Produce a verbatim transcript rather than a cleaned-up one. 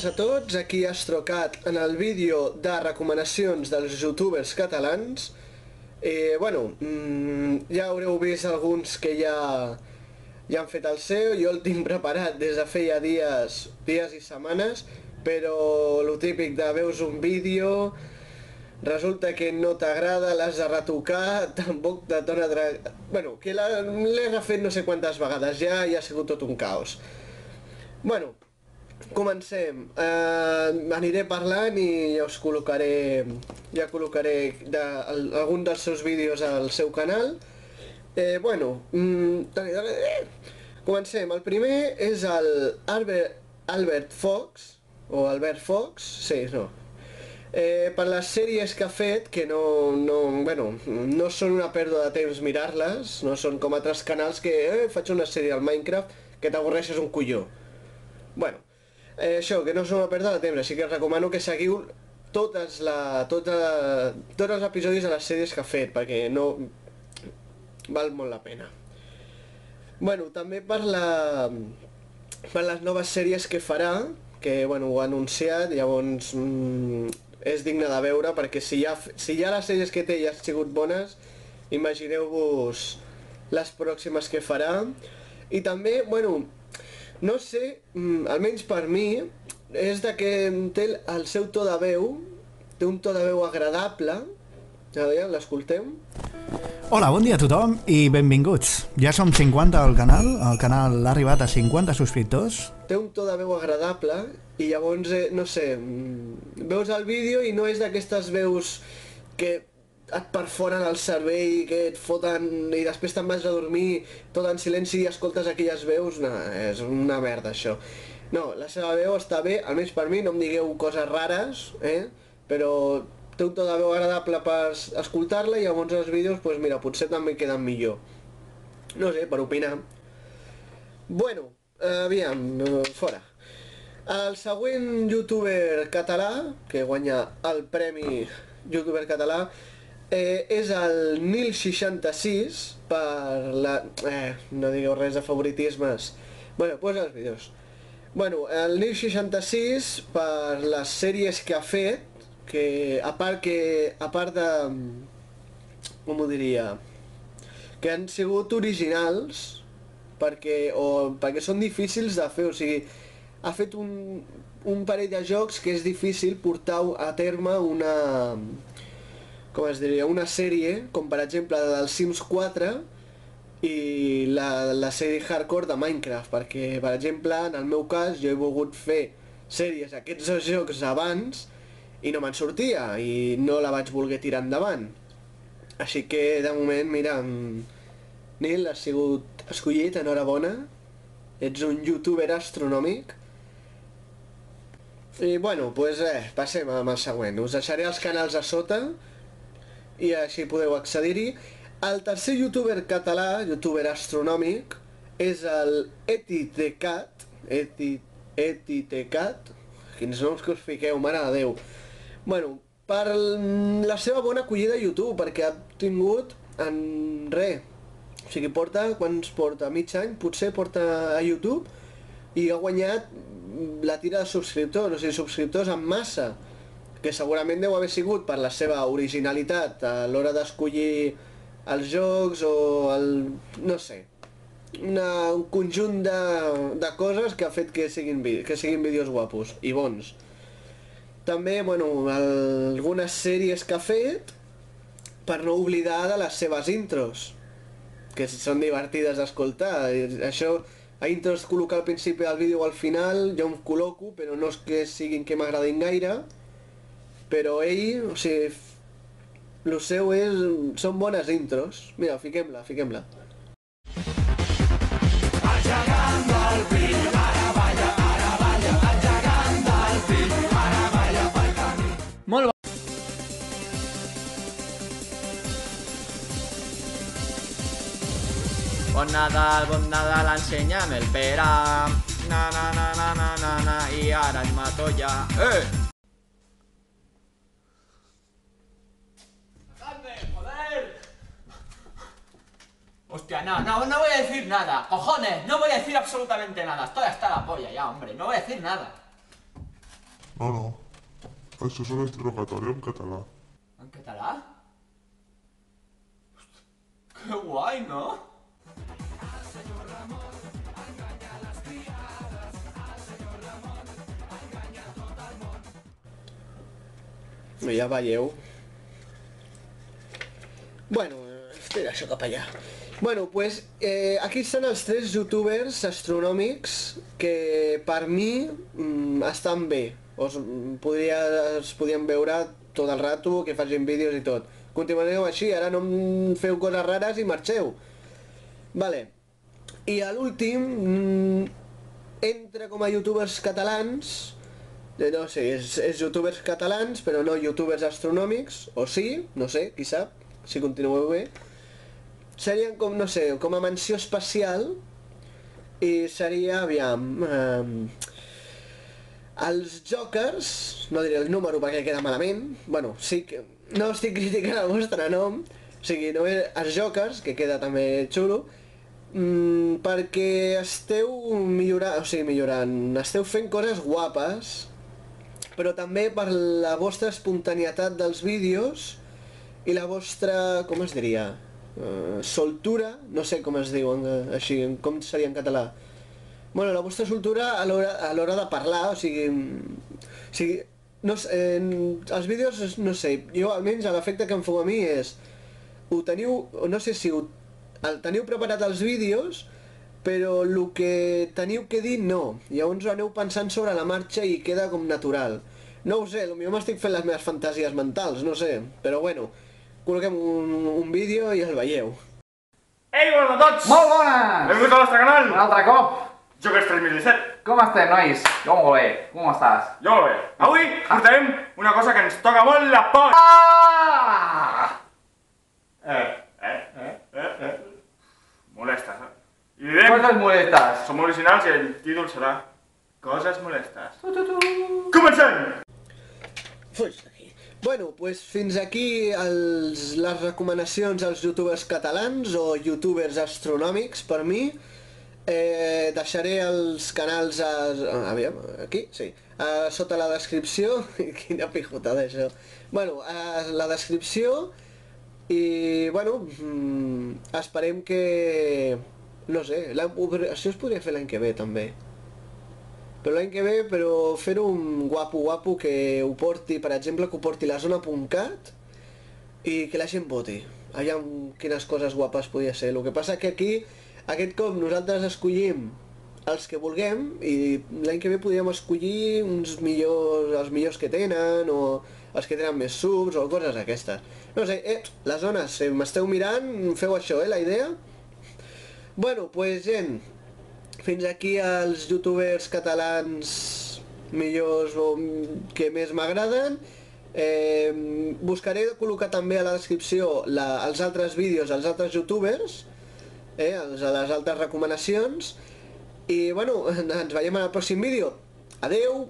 a tots, aquí Astrocat en el vídeo de recomanacions dels youtubers catalans. Eh, bueno, mmm, ja haureu vist alguns que ja, ja han fet el seu, jo el tinc preparat des de feia dies, dies i setmanes, però lo típic de veus un vídeo, resulta que no t'agrada, l'has de retocar, tampoc te dona... Bueno, que l'he refet no sé quantes vegades ja i ha sigut tot un caos. Bueno, comencem. Uh, aniré parlant i ja us col·locaré, ja col·locaré de, el, algun dels seus vídeos al seu canal. Eh, bueno, mm, comencem. El primer és el Albert, Albert Fox, o Albert Fox, sí, no. Eh, per les sèries que ha fet, que no, no, bueno, no són una pèrdua de temps mirar-les, no són com altres canals que eh, faig una sèrie al Minecraft que t'avorreixes un colló. Bueno, eh, això, que no és una pèrdua de temps, així que recomano que seguiu totes la, tota, tots els episodis de les sèries que ha fet, perquè no val molt la pena. Bueno, també per, la, per les noves sèries que farà, que bueno, ho ha anunciat, llavors mm, és digne de veure, perquè si ja, si ja les sèries que té ja han sigut bones, imagineu-vos les pròximes que farà. I també, bueno, no sé, almenys per mi, és de que té el seu to de veu, té un to de veu agradable. A veure, l'escoltem. Hola, bon dia a tothom i benvinguts. Ja som cinquanta al canal, el canal ha arribat a cinquanta subscriptors. Té un to de veu agradable i llavors, eh, no sé, veus el vídeo i no és d'aquestes veus que et perforen el cervell, que et foten i després te'n vas a dormir tot en silenci i escoltes aquelles veus. No, és una merda això. No, la seva veu està bé, almenys per mi, no em digueu coses rares, eh? Però té un to de veu agradable per escoltar-la i llavors els vídeos, pues mira, potser també queden millor. No sé, per opinar. Bueno, aviam, fora. El següent youtuber català, que guanya el premi youtuber català, Eh, és el Nil seixanta-sis, per la... Eh, no digueu res de favoritismes. Bueno, posa els vídeos. Bueno, el Nil seixanta-sis, per les sèries que ha fet, que a part que... a part de... com ho diria? Que han sigut originals, perquè, o, perquè són difícils de fer, o sigui, ha fet un, un parell de jocs que és difícil portar a terme una... com es diria, una sèrie, com per exemple del Sims quatre i la, la sèrie hardcore de Minecraft, perquè per exemple en el meu cas jo he volgut fer sèries aquests dos jocs abans i no me'n sortia i no la vaig voler tirar endavant. Així que de moment, mira, Nil, has sigut escollit, enhorabona, ets un youtuber astronòmic. I bueno, doncs eh, passem amb el següent, us deixaré els canals a sota i així podeu accedir-hi. El tercer youtuber català, youtuber astronòmic, és el EtiTecat. Eti, EtiTecat. Quins noms que us fiqueu, mare de Déu. Bueno, per la seva bona acollida a YouTube, perquè ha tingut en res. O sigui, porta, quants porta? Mig any, potser porta a YouTube i ha guanyat la tira de subscriptors, o sigui, subscriptors en massa, que segurament deu haver sigut per la seva originalitat a l'hora d'escollir els jocs o el... no sé, una, un conjunt de, de coses que ha fet que siguin, que siguin vídeos guapos i bons. També, bueno, algunes sèries que ha fet per no oblidar de les seves intros, que són divertides d'escoltar. Això, a intros col·locar al principi del vídeo o al final, jo em col·loco, però no és que siguin que m'agradin gaire. Però ell, o sigui, el seu és... són bones intros. Mira, fiquem-la, fiquem-la. Engegant el fill, ara balla, ara balla, engegant el fill, ara balla pel camí. Molt bo. Bon Nadal, bon Nadal, ensenya'm el pera. Na, na, na, na, na, na, na, i ara et mato ja. Eh! Hostia, no, no, no voy a decir nada. Cojones, no voy a decir absolutamente nada. Estoy hasta la polla ya, hombre. No voy a decir nada. No, no. Això és un interrogatori en català. En català? Hosti, que guai, no? Ja veieu. Bueno, tira això cap allà. Bueno, pues eh, aquí estan els tres youtubers astronòmics que per mi mm, estan bé. Us, podria, es podien veure tot el rato, que facin vídeos i tot. Continuareu així, ara no em feu coses rares i marxeu. Vale. I a l'últim, mm, entra com a youtubers catalans, no sé, és, és youtubers catalans, però no youtubers astronòmics, o sí, no sé, qui sap, si continueu bé. Serien com, no sé, com a menció especial, i seria, aviam, eh, els Jokers, no diré el número perquè queda malament, bueno, sí que, no estic criticant el vostre nom, o sigui, només els Jokers, que queda també xulo, mm, perquè esteu millorant, o sigui, millorant, esteu fent coses guapes, però també per la vostra espontanietat dels vídeos i la vostra, com es diria, uh, soltura, no sé com es diu uh, així, com seria en català. Bueno, la vostra soltura a l'hora de parlar, o sigui, o sigui no sé, en els vídeos, no sé, jo almenys l'efecte que em feu a mi és, ho teniu, no sé si ho, el teniu preparat els vídeos, però el que teniu que dir no, llavors ho aneu pensant sobre la marxa i queda com natural. No ho sé, potser m'estic fent les meves fantasies mentals, no sé, però bueno, col·loquem un, un vídeo i el veieu. Ei, bones a tots! Molt bones! Benvinguts al nostre canal! Un altre cop! Jokers tres mil disset. Com estem, nois? Jo molt bé. Com estàs? Jo molt bé. Avui portarem una cosa que ens toca molt la por. Ah! Eh, eh, eh, eh, eh. Molestes, eh? I direm... Coses molestes. Som originals i el títol serà Coses molestes. Tu, tu, tu. Comencem! Fuig d'aquí. Bueno, pues fins aquí els, les recomanacions als youtubers catalans o youtubers astronòmics per mi. Eh, deixaré els canals a, aviam, aquí, sí, a, sota la descripció. Quina pijotada això. Bueno, a la descripció i, bueno, mm, esperem que, no sé, això es podria fer l'any que ve també. Però l'any que ve, però fer-ho un guapo guapo que ho porti, per exemple, que ho porti la zona punt cat i que la gent voti. Aviam quines coses guapes podia ser. El que passa que aquí, aquest cop, nosaltres escollim els que vulguem i l'any que ve podríem escollir uns millors, els millors que tenen o els que tenen més subs o coses aquestes. No sé, eh, les zones, si m'esteu mirant, feu això, eh, la idea. Bueno, pues gent, fins aquí els youtubers catalans millors o que més m'agraden. Eh, buscaré col·locar també a la descripció la, els altres vídeos, els altres youtubers, eh, els, les altres recomanacions. I bueno, ens veiem en el pròxim vídeo. Adeu!